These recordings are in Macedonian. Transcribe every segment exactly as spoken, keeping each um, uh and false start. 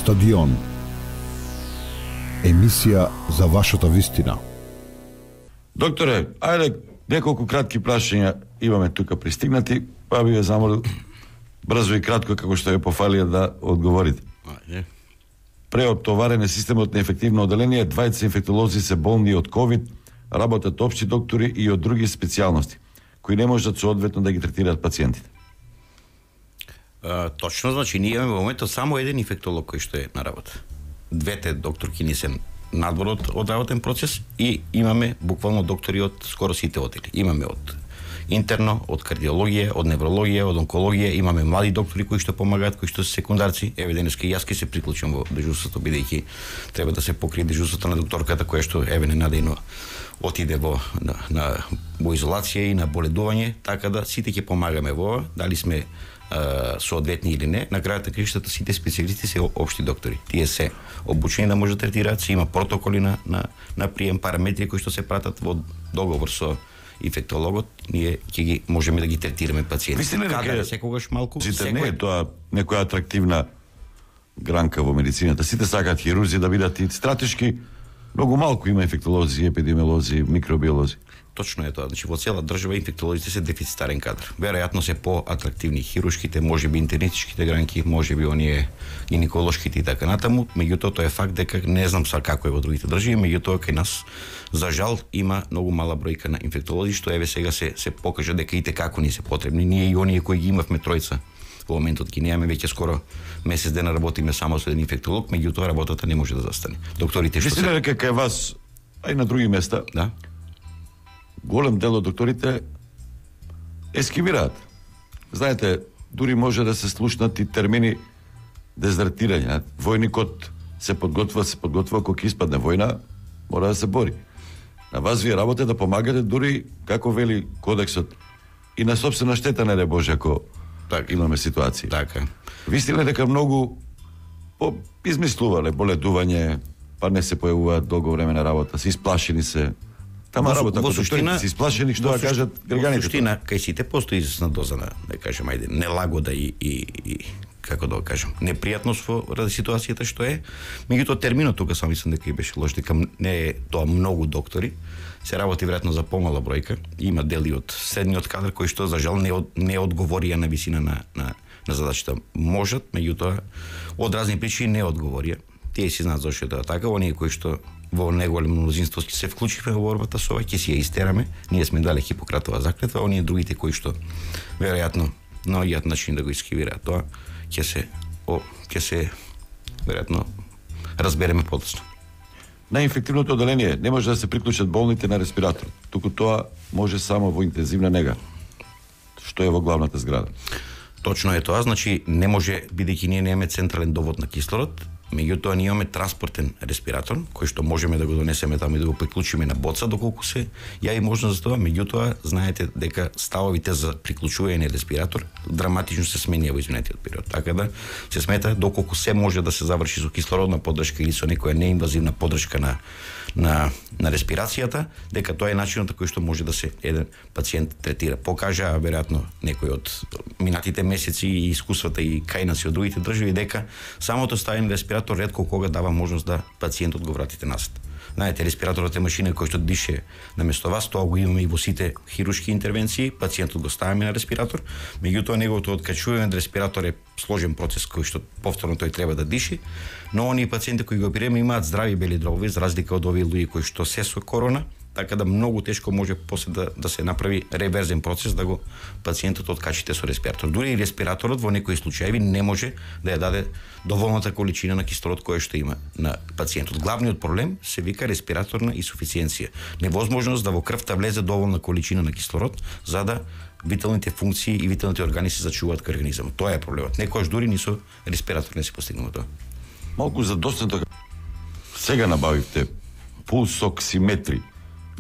Стадион. Емисија за вашата вистина. Докторе, ајде неколку кратки прашања имаме тука пристигнати, па би ве замолил брзо и кратко како што ја пофалија да одговорите. Ајде. Преоптоварен е системот на ефективно оделение, двајца инфектолози се болни од ковид, работат општи доктори и од други специјалности, кои не можат соодветно да ги третираат пациентите. А, точно, значи ние имаме во моментот само еден инфектолог кој што е на работа. Двете докторки ни се надвор од, од работен процес и имаме буквално доктори од скоро сите одели. Имаме од интерно, од кардиологија, од неврологија, од онкологија, имаме млади доктори кои што помагаат, кои што се секундарци. Еве денеска јас ке се приклучам во дежурството, бидејќи треба да се покрие дежурството на докторката која што еве ненадејно отиде во на, на во изолација и на боледување, така да сите ќе помагаме во ова, дали сме а, соодветни или не. На крајот на краиштата сите специјалисти се општи доктори. Тие се обучени да може да третираат, се има протоколи на на, на прием, параметри кои што се пратат во договор со инфектологот, ние ќе ги можеме да ги третираме пациенти. Каде секогаш малку, секој... не е тоа некоја атрактивна гранка во медицината. Сите сакаат хирурзи да бидат и стратешки. Многу малку има инфектолози, епидемиолози, микробиолози. Точно е тоа. Значи во цела држава инфектолозите се дефицитарен кадар. Веројатно се по-атрактивни хируршките, можеби интернистичките гранки, можеби оние гинеколошките и така натаму. Меѓутоа тоа е факт дека не знам са како е во другите држави, меѓутоа кај нас за жал има многу мала бројка на инфектолози, што еве сега се се покажа дека и те како ни се потребни. Ние и оние кои ги имавме тројца во моментот ги немаме, веќе скоро месец дена работиме само со еден инфектолог, меѓутоа работата не може да застане. Докторите што се дека кај вас, а и на други места, да, голем дел од докторите ескивираат. Знаете, дури може да се слушнат и термини дезертирање. Војникот се подготвува, се подготвува кога ќе испадне војна, мора да се бори. На вас вие работите да помагате дури, како вели кодексот, и на собствена штета, не де Боже, ако так имаме ситуација. Така. Вистина дека многу по измислувале боледување, па не се појавуваат долго време на работа, се исплашени се. Тама работа во суштина се исплашени што да кажат граѓаните. Во суштина кај сите постои известна доза на, да кажем, ајде, нелагода и, и, и како да го кажам, непријатност во ради ситуацијата што е. Меѓутоа терминот тука сам мислам дека и беше лош, дека не е тоа многу доктори. Се работи веројатно за помала бројка. Има дели од средниот кадар кои што за жал не од, не одговорија на висина на на на задачата. Можат, меѓутоа од разни причини не одговорија. Тие си знаат зошто е тоа така, оние кои што во неголемо мнозинство ќе се вклучиме во борбата со ова, ќе си ја истераме. Ние сме дали Хипократова заклетва, оние другите кои што веројатно наоѓаат начин да го искривираат тоа, ќе се о, ќе се веројатно разбереме подоцна. На инфективното оделение не може да се приклучат болните на респиратор, туку тоа може само во интензивна нега, што е во главната зграда. Точно е тоа, значи не може, бидејќи ние немаме централен довод на кислород, меѓутоа ние имаме транспортен респиратор, кој што можеме да го донесеме таму и да го приклучиме на боца доколку се јави можност за тоа, меѓутоа знаете дека ставовите за приклучување на респиратор драматично се сменија во изминатиот период. Така да се смета доколку се може да се заврши со кислородна поддршка или со некоја неинвазивна поддршка на на на респирацијата, дека тоа е начинот кој што може да се еден пациент третира. Покажа веројатно некој од минатите месеци и искуствата и кај нас и од другите држави дека самото ставење на респиратор ретко кога дава можност да пациентот го вратите назад. Знаете, респираторот е машина која што дише наместо вас, тоа го имаме и во сите хируршки интервенции, пациентот го ставаме на респиратор, меѓутоа неговото откачување на респиратор е сложен процес кој што повторно тој треба да диши, но оние пациенти кои го оперираме имаат здрави бели дробови, за разлика од овие луѓе кои што се со корона, така да многу тешко може после да, да се направи реверзен процес да го пациентот откачите со респиратор. Дури и респираторот во некои случаи не може да ја даде доволната количина на кислород која што има на пациентот. Главниот проблем се вика респираторна инсуфициенција. Невозможност да во крвта влезе доволна количина на кислород за да виталните функции и виталните органи се зачуваат кај организмот. Тоа е проблемот. Некојаш дури ни со респиратор не се постигнува тоа. Малку задоцнато сега набавивте пулсоксиметри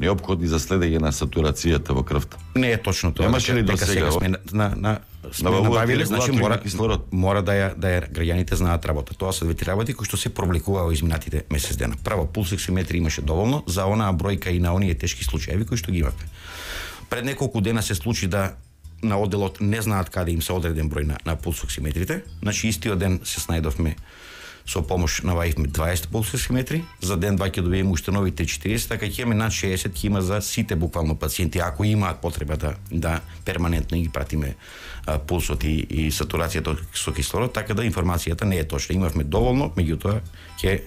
неопходни за следење на сатурацијата во крвта. Не е точно тоа. Немаше ли до сега? сега сме на на, на сме набавиле, значи мора кислород. Мора да ја да ја граѓаните знаат работа. Тоа се две работи кои што се пробликуваа во изминатите месец дена. Право пулсоксиметри имаше доволно за онаа бројка и на оние тешки случаи кои што ги имавме. Пред неколку дена се случи да на одделот не знаат каде им се одреден број на, на пулсоксиметрите. Значи истиот ден се снајдовме со помош набавивме дваесет пулсови метри, за ден два ќе добиеме уште нови четириесет, така ќе имаме над шеесет, ќе има за сите буквално пациенти, ако имаат потреба да, да перманентно ги пратиме а, пулсот и, и сатурацијата со кислород, така да информацијата не е точна. Имавме доволно, меѓутоа ќе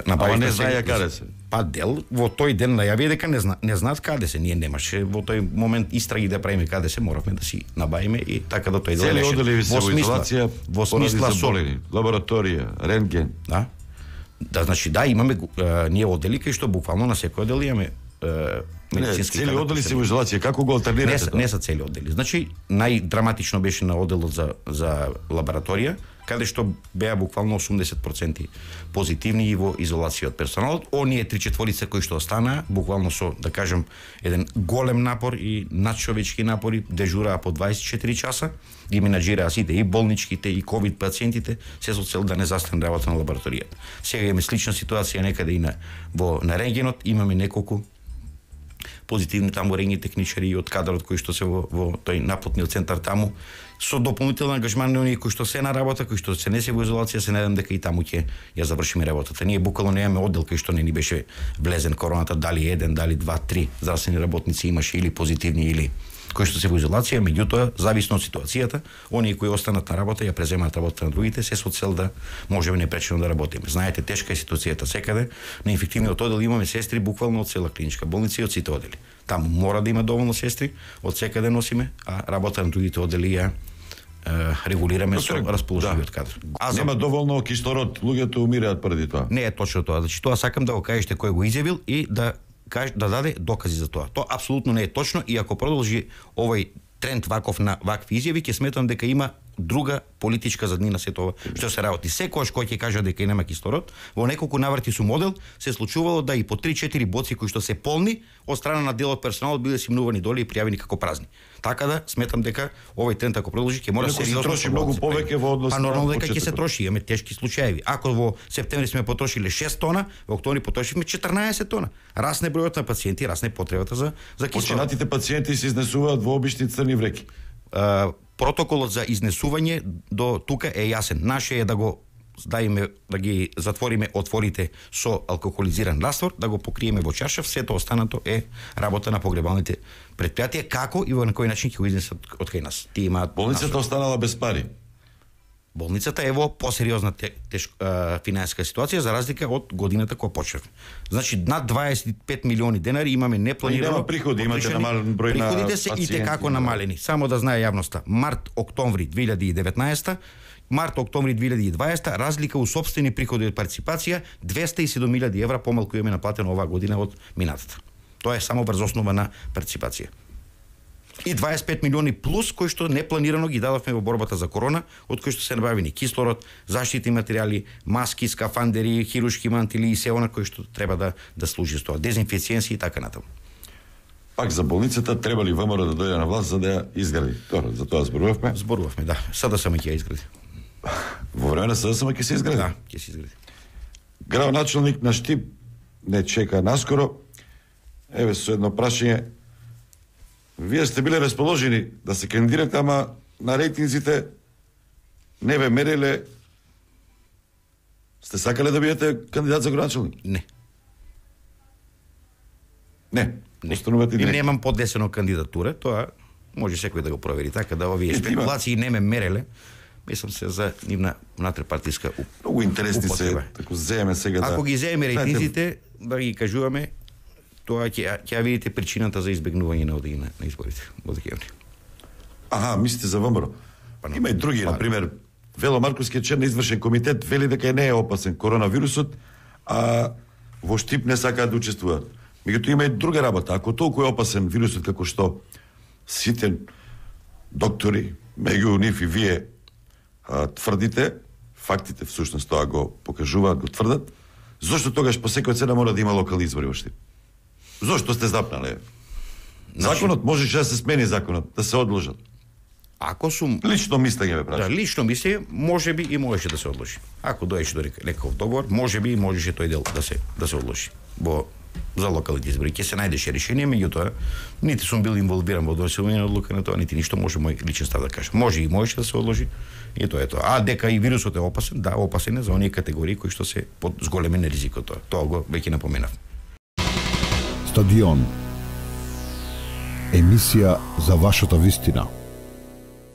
Ама не знаеја каде се. Па дел во тој ден најави дека не зна, не знаат каде се. Ние немаше во тој момент истраги да правиме каде се, моравме да си набавиме и така да тој дел. Цели одели се во изолација, во смисла со лабораторија, рентген. Да. Да, значи да, имаме а, ние одели кај што буквално на секој одел имаме медицински. Цели одели се во изолација, како го алтернирате тоа? Не, не се цели одели. Значи најдраматично беше на оделот за за лабораторија, каде што беа буквално осумдесет проценти позитивни и во изолација од персоналот. Оние три четворица кои што останаа, буквално со, да кажем, еден голем напор и надчовечки напори, дежураа по дваесет и четири часа, ги менаџираа сите, и болничките, и ковид пациентите, се со цел да не застане работа на лабораторијата. Сега имаме слична ситуација некаде и на, во, на рентгенот, имаме неколку позитивни таму рентген техничари од кадрот кои што се во, во тој напотниот центар таму, со дополнителен ангажман на оние кои што се на работа, кои што се не се во изолација, се надевам дека и таму ќе ја завршиме работата. Ние буквално немаме оддел кај што не ни беше влезен короната, дали еден, дали два, три здравствени работници имаше или позитивни или кои што се во изолација, меѓутоа зависно од ситуацијата, оние кои останат на работа ја преземаат работата на другите, се со цел да можеме непречено да работиме. Знаете, тешка е ситуацијата секаде. На инфективниот оддел имаме сестри буквално од цела клиничка болница и од сите одели. Таму мора да има доволно сестри, од секаде носиме, а работа на другите одели ја регулираме со расположливиот кадар. А нема доволно кислород, луѓето умираат преди тоа. Не е точно тоа. Значи тоа сакам да го кажете кој го изјавил и да каже, да даде докази за тоа. Тоа апсолутно не е точно и ако продолжи овој тренд ваков на вакви изјави, ќе сметам дека има друга политичка заднина се тоа што се работи. Секогаш кој ќе каже дека нема кислород, во неколку наврати со модел се случувало да и по три-четири боци кои што се полни од страна на дел од персоналот биле симнувани доле и пријавени како празни. Така да сметам дека овој тренд ако продолжи ќе мора сериозно се троши многу повеќе во однос. Па нормално дека ќе се троши, имаме тешки случаи. Ако во септември сме потрошиле шест тона, во октомври потрошивме четрнаесет тона. Расне бројот на пациенти, расне потребата за за кислород. Починатите пациенти се изнесуваат во обични црни вреки. Uh, протоколот за изнесување до тука е јасен. Наше е да го дајме, да ги затвориме отворите со алкохолизиран раствор, да го покриеме во чаршаф, сето останато е работа на погребалните предпријатија, како и во на кој начин ќе го изнесат од кај нас. Ти имаат болницата останала без пари. Болницата е во посериозна те, теш, а, финансиска ситуација за разлика од годината која почнавме. Значи над дваесет и пет милиони денари имаме непланирано. Нема приходи, имате намален број на приходите се и како намалени. Само да знае јавноста. Март октомври две илјади и деветнаесета, март октомври две илјади и дваесета, разлика у сопствени приходи од партиципација двеста и седум илјади евра помалку имаме наплатено оваа година од минатата. Тоа е само врз основа на партиципација. И дваесет и пет милиони плюс кои што непланирано ги дадовме во борбата за корона, од кои што се набавени кислород, заштитни материјали, маски, скафандери, хируршки мантили и се она кои што треба да да служи со тоа, дезинфекцијанси и така натаму. Пак за болницата треба ли ВМРО да дојде на власт за да ја изгради? Тоа, за тоа зборувавме. Зборувавме, да. СДСМ ќе ја изгради. Во време на СДСМ ќе се изгради? Да, ќе се изгради. Градоначалник на Штип не чека наскоро. Еве со едно прашање. Вие сте биле расположени да се кандидирате, ама на рейтинзите не ве мериле. Сте сакале да бидете кандидат за градоначалник? Не. Не. Не. Останувате не. И немам поднесено кандидатура, тоа може секој да го провери, така да овие спекулации не ме мереле. Мислам се за нивна внатрешпартиска уп... Многу интересни употреба. се, тако земеме сега да... Ако ги земеме рейтинзите, да ги кажуваме, тоа ќе ќе видите причината за избегнување на одење на изборите во декември. Аха, мислите за ВМРО. Па, има и други, па, на пример, Вело Марковскиот член на извршен комитет вели дека не е опасен коронавирусот, а во Штип не сакаат да учествуваат. Меѓутоа има и друга работа. Ако толку е опасен вирусот како што сите доктори, меѓу нив и вие а, тврдите, фактите всушност тоа го покажуваат, го тврдат, зошто тогаш по секоја цена мора да има локални избори во Штип? Зошто сте запнале? Законот можеше да се смени законот, да се одложат. Ако сум лично мислење ме прашам. Да, лично мислење можеби и можеше да се одложи. Ако доеше до некаков договор, можеби и можеше тој дел да се да се одложи во за локалните избори. Ќе се најдеше решение, меѓутоа нити сум бил инволвиран во донесување на одлука на тоа, нити ништо, може мој личен став да кажам. Може и можеше да се одложи, и тоа е тоа. А дека и вирусот е опасен, да, опасен е за оние категории кои што се под зголемен ризикот тоа. Тоа го веќе напоменав. Стадион. Емисија за вашата вистина.